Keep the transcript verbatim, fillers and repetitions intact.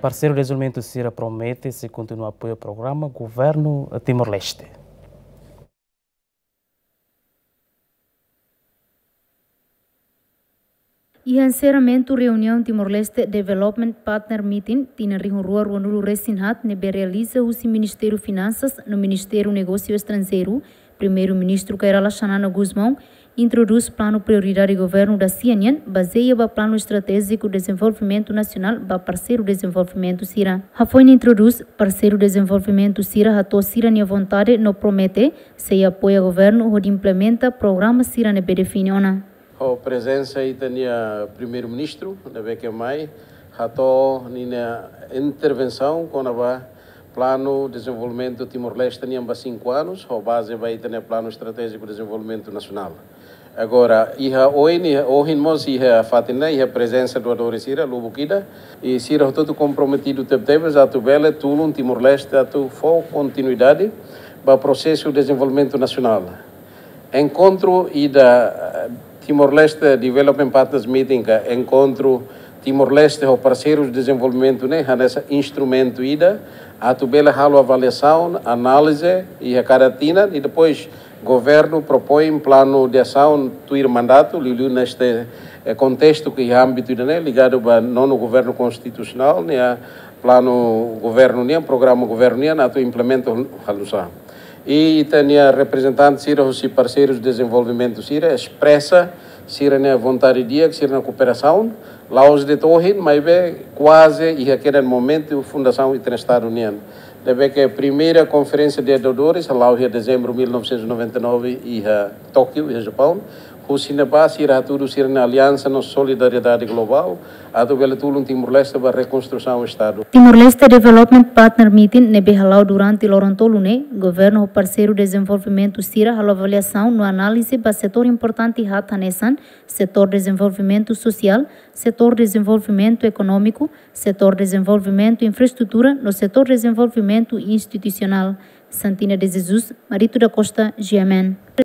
Parseiru dezenvolvimentu sira promete sei kontinua apoia programa governu Timor-Leste. Iha enserramentu reuniaun Timor-Leste Development Partner Meeting tinan rihun rua ruanulu resin haat ne'ebé realiza husi Ministériu Finansas no Ministériu Negósiu Estranjeiru, Primeiru-Ministru Kay Rala Xanana Gusmão introdús planu prioridade governu da sia nian, bazeia ba Planu Estratéjiku Dezenvolvimentu Nasionál ba parseiru dezenvolvimentu sira. Hafoin introdús, parseiru dezenvolvimentu sira hato'o sira-nia vontade no promete sei apoia governu hodi implementa programa sira ne'ebé define ona. Ho prezensa ita-nia Primeiru-Ministru, ne'ebé ke mai hato'o ninia intervensaun kona-ba Planu Dezenvolvimentu Timor-Leste nian ba sinku anus, ho baze ba ita-nia Planu Estratéjiku Dezenvolvimentu Nasionál. Agora, iha oin, iha ohin mós iha fatin ne'e, iha prezensa doadores sira, lubuk ida, i sira hotu-hotu komprometidu tebetebes atu bele tulun Timor-Leste atu fó kontinuidade ba prosesu dezenvolvimentu nasionál. Enkontru ida, eh, Timor-Leste Development Partners Meeting ka enkontru Timor-Leste ho parseirus dezenvolvimentu ne'e hanesan instrumentu ida atu bele halo avaliasaun, análize iha kada tinan i depois governu propoin planu de asaun tuir mandatu, liuliu neste, eh, kontestu ke iha ámbitu ida-ne'e ligadu ba nonu governu konstitusionál, ne'e planu governu nian, programa governu nian atu implementa hal-, halusá. I ita-nia reprezentante sira husi parseirus dezenvolvimentu sira espresa sira-nia vontade di'ak, sira-nia kooperasaun, la'ós de'it ohin, maibé kuaze iha kedan momentu fundasaun ita-nia Estadu nian. Ne'ebé ke primeira konferénsia de doadores hala'o iha dezembru mil novecentos e noventa e nove iha Tókiu, iha Japaun. Husi ne'ebá sira hatudu sira-nia aliansa no solidariedade globál atu bele tulun Timor-Leste ba rekonstrusaun Estadu. Timor-Leste Development Partner Meeting ne'ebé hala'o durante loron tolu ne'e, governu ho parseiru dezenvolvimentu sira halo avaliasaun no análize ba setór importante haat hanesan setór dezenvolvimentu sosiál, setór dezenvolvimentu ekonómiku, setór dezenvolvimentu infraestrutura no setór dezenvolvimentu institusionál. Santina de Jesus, Marito da Costa, G M N.